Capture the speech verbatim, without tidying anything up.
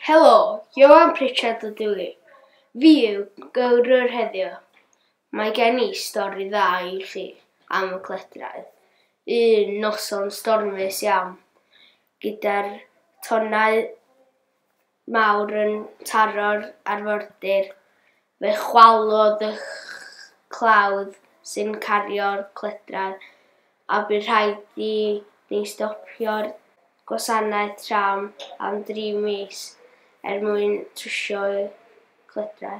Helo, Ioan Pritchard ydw i. Fi yw gyrrwr heddiw. Mae gen i stori dda i chi am y cledrau. Un noson stormus iawn, gyda'r tonnau mawr yn taro'r arfordir, fe chwalodd y clawdd sy'n cario'r cledrau a bu rhaid i ni stopio'r gwasanaeth tram am dri mis er mwyn trwsio'r cledrau.